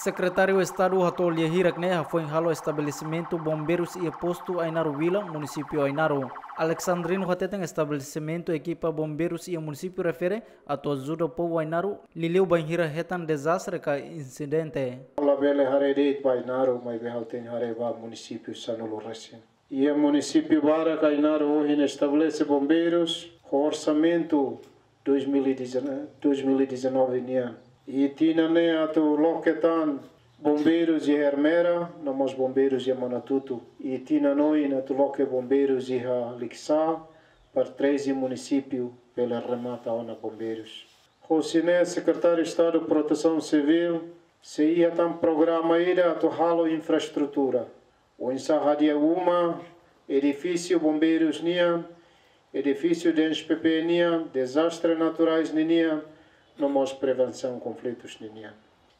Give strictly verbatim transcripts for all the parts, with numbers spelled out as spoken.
Sekretáriu Estadu hato'o lia hirak ne'e hafoin halo estabelesimentu bombeirus iha postu Ainaro Vila, munisípiu Ainaro. Alexandrino hateten estabelesimentu ekipa bombeirus iha munisípiu refere atu ajuda povu Ainaro, liuliu bainhira hetan dezastre ka insidente. Labele haree de'it ba Ainaro, maibé ha'u tenke haree ba munisípiu sanulu resin. Iha munisípiu barak Ainaro ohin estabelese bombeirus ho orsamentu dois mil e dezanove, dois mil e dezanove nian. I tinan ne'e atu loke tan bombeirus iha Ermera, no mós bombeirus iha Manatutu. I tinan oin atu loke bombeirus iha Likisá, para treze munisípiu bele remata ona bombeirus. Hosi ne'e Sekretáriu Estadu Protesaun Sivíl sei iha tan programa ida atu halo infraestrutura. Oinsá hadi'a uma, edifísiu bombeirus nian, edifísiu D N S P P nian, dezastre naturais ninian, no mós prevensaun konflitus ninian.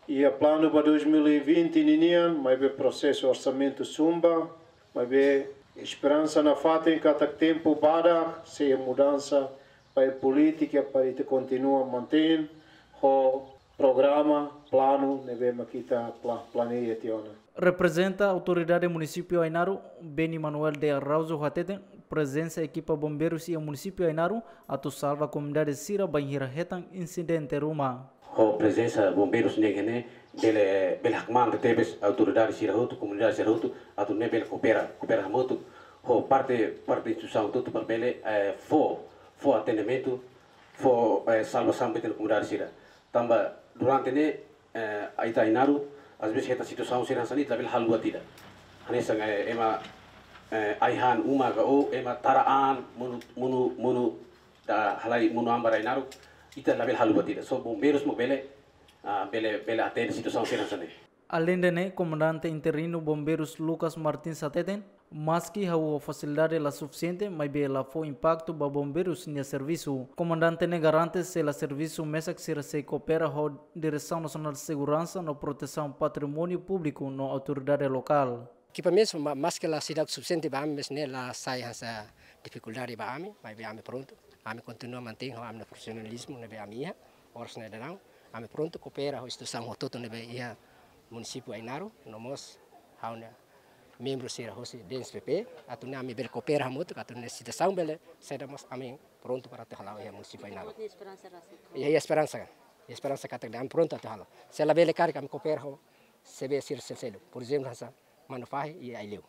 Iha planu ba dois mil e vinte ninian, maibé prosesu orsamentu sumba, maibé esperansa nafatin katak tempu badak sei mudansa ba polítika para ita kontinua mantein ho programa, planu ne'ebé mak ita pla-, planeia tiha ona. Reprezenta Autoridade Munisípiu Ainaro, Beni Manuel de Araújo hateten, prezensa ekipa bombeirus iha munisípiu Ainaro atu salva komunidade sira bainhira hetan insidente ruma. Ho prezensa bombeirus ne'e, ne'e bele, bele hakmaan tebes autoridade sira hotu, komunidade sira hotu, atu nune'e bele koopera, koopera hamutuk ho parte, parte instituisaun hotu para bele, eh, fó, fó atendimentu, fó, eh, salvasaun ba ita-nia komunidade sira. Tanba durante ne'e, eh, ita Ainaro, às vezes hetan situasaun sira hanesan ne'e ita labele halo buat ida. Hanesan, eh, ema, eh, ai-han uma ka ou ema tara an monu, monu, monu, ita halai monu an ba rai naruk, ita labele halo buat ida. Só bombeirus mak bele, ah, bele, bele atende situasaun sira hanesan ne'e. Aleinde ne'e, Komandante Interinu Bombeirus Lucas Martins hateten, maski hahú fasilidade la sufisiente, maibé la fó impaktu ba bombeirus nia servisu. Komandante ne'e garante se la servisu mesak sira sei koopera ho Diresaun Nasionál Seguransa no Protesaun Patrimóniu Públiku no autoridade lokál. Ekipamentu, ma-, maski la seidauk sufisiente ba ami, maibé ne'e la sai hanesan difikuldade ba ami, maibé ami prontu. Ami kontinua mantein ho ami-nia profisionalizmu ne'ebé ami iha, oras ne'e daudaun. Ami prontu koopera ho instituisaun hotu-hotu ne'ebé iha munisípiu Ainaro, no mós ha'u-nia membru sira hosi D N S P P, atu nune'e ami bele koopera hamutuk, atu nune'e situasaun bele saida mós ami prontu para atu hala'o iha munisípiu Ainaro. Iha, iha esperansa, iha esperansa katak ami prontu atu halo. Se labele karik ami koopera ho S B sira seluk-seluk. Por ezemplu, hanesan Manufahi i Aileu.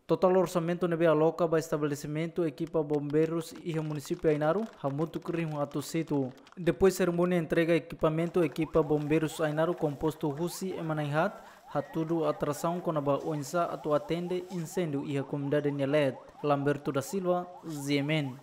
Totál orsamentu ne'ebé aloka ba estabelesimentu ekipa bombeirus iha munisípiu Ainaro, hamutuk rihun atus hitu. Depois serimónia entrega ekipamentu ekipa bombeirus Ainaro kompostu husi ema na'in-haat, hatudu atrasaun kona-ba oinsá atu atende inséndiu iha komunidade nia leet. Lamberto da Silva, Z M N.